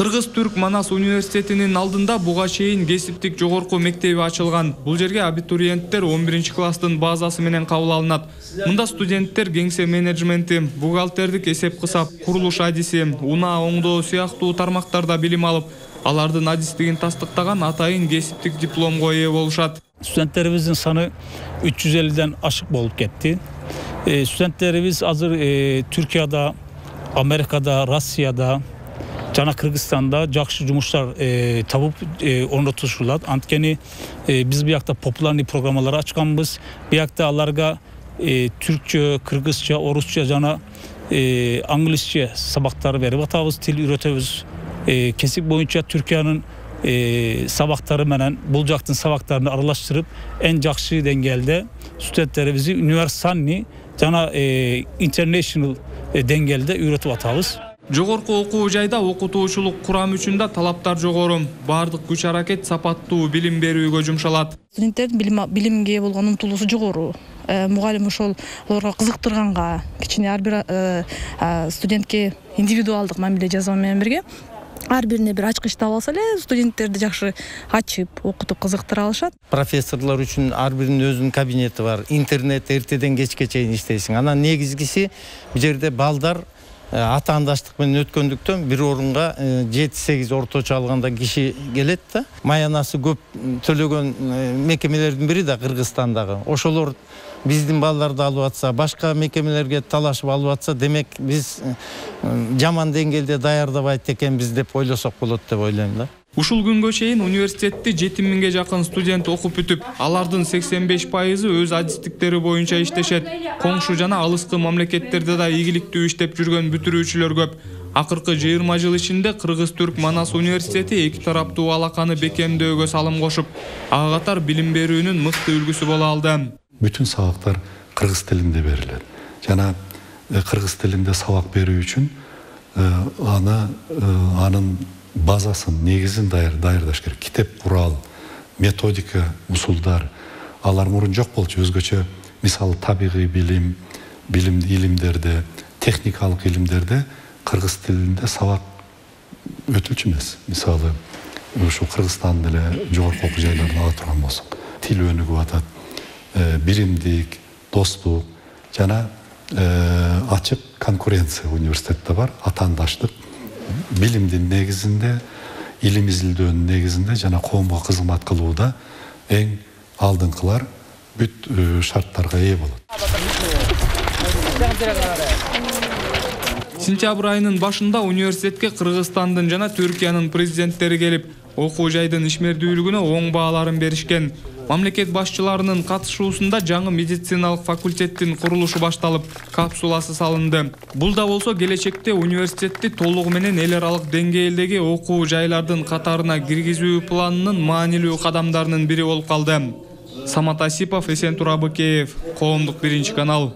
Кыргыз-Түрк Манас университетинин алдында буга чейин кесиптик жогорку мектеби ачылган. Бул жерге абитуриенттер 11-класстын базасы менен кабыл алынат. Мында студенттер кеңсе менеджменти, бухгалтердик эсеп-кысап, курулуш адиси, унаа оңдоо сыяктуу тармактарда билим алып, алардын адистигин тастыктаган атайын кесиптик дипломго ээ болушат. Студенттерибиздин саны 350ден ашык болуп кетти. Студенттерибиз азыр Түркияда, Америкада, Россияда жана Кыргызстанда жакшы жумуштар табып орнотушулат. Анткени биз биякта популярный программалар ачканбыз. Биякта аларга түркчө, кыргызча, орусча жана англисче сабактар берип атабыз, тил үйрөтөбүз. Кесип боюнча Түркиянын сабактары менен бул жактын сабактарын аралаштырып, эң жакшы деңгээлде студенттерибизди универсальный жана international деңгээлде үйрөтүп атабыз. Жогорку окуу жайда окутуучулук курам үчүн да талаптар жогору. Бардык күч аракет сапаттуу билим берүүгө жумшалат. Студенттердин билимге болгон умтулуусу жогору. Мугалим ошол аларга кызыктырганга, кичине ар бир студентке индивидуалдык мамиле жасоо менен бирге ар бирине бир ачкыч таап алса эле студенттерди жакшы ачып, окутуп кызыктыра алышат. Профессорлор үчүн ар биринин өзүнүн кабинети бар. Интернет эртеден кечке чейин иштейсиң. Анан негизгиси бул жерде балдар атаандаштык менен өткөндүктөн бир орунга 7-8 орточо алганда киши келет да. Маянасы көп төлөгөн мекемелердин бири да Кыргызстандагы. Ошолор биздин балдарды алып атса, башка мекемелерге талашып алып атса, демек биз жаман деңгээлде даярдабайт экенбиз деп ойлосок болот деп ойлойм да. Ушул күнгө чейин университетти 7000ге жакын студент окуп бүтүп, алардын 85% өз адистиктери боюнча иштешет. Коңшу жана алыскы мамлекеттерде да ийгиликтүү иштеп жүргөн бүтүрүүчүлөр көп. Акыркы 20 жыл ичинде Кыргыз-Түрк Манас университети эки тараптуу алаканы бекемдөөгө салым кошуп, ага катар билим берүүнүн мыкты үлгүсү боло алды. Бүтүн сабактар кыргыз тилинде берилет. Жана кыргыз тилинде сабак берүү үчүн анын базасын, негизин даярдаш керек. Китеп, курал, методика, усулдар. Алар мурун жок болчу. Өзгөчө, мисалы, табигый билим, илимдерде, техникалык илимдерде кыргыз тилинде сабак өтүлчү эмес. Мисалы, ушу Кыргызстан деле жогорку окуу жайларын ала турган болсок, тил өнүгүп атат, биримдик, достук жана ачык конкуренция университетте бар, атаандаштык. Билимдин негизинде, илим изилдөөнүн негизинде жана коомго кызмат кылууда эң алдыңкылар бүт шарттарга ээ болот. Сентябрь айынын башында университетке Кыргызстандын жана Түркиянын президенттери келип, окуу жайдын ишмердүүлүгүнө оң бааларын беришкен. Мамлекет башчыларынын катышуусунда жаңы медициналык факультеттин курулушу башталып, капсуласы салынды. Бул да болсо келечекте университетти толугу менен эл аралык деңгээлдеги окуу жайлардын катарына киргизүү планынын маанилүү кадамдарынын бири болуп калды. Самат Асипов, Эсентур Абыкеев, Коомдук 1 канал.